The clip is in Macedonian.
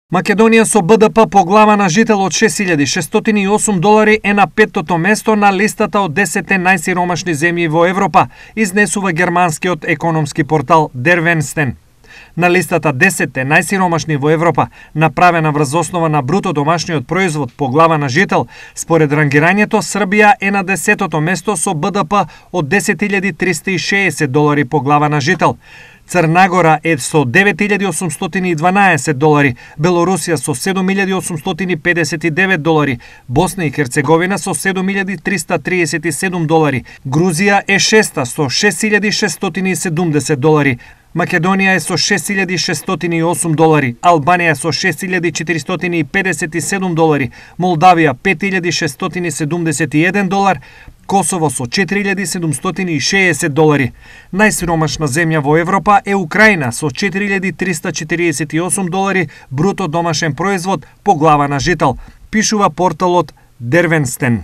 Македонија со БДП по глава на жител од $6.608 е на 5-тото место на листата од 10 најсиромашни земји во Европа, изнесува германскиот економски портал Der Westen. На листата 10 најсиромашни во Европа, направена врз основа на бруто домашниот производ по глава на жител, според рангирањето Србија е на 10-тото место со БДП од $10.360 по глава на жител. Црна Гора е со $9.812, Белорусија со $7.859, Босна и Херцеговина со $7.337, Грузија е шеста со $6.670, Македонија е со $6.608, Албанија со $6.457, Молдавија $5.671, Косово со $4.760. Најсиромашна земја во Европа е Украина со $4.348 бруто домашен производ по глава на жител, пишува порталот Der Westen.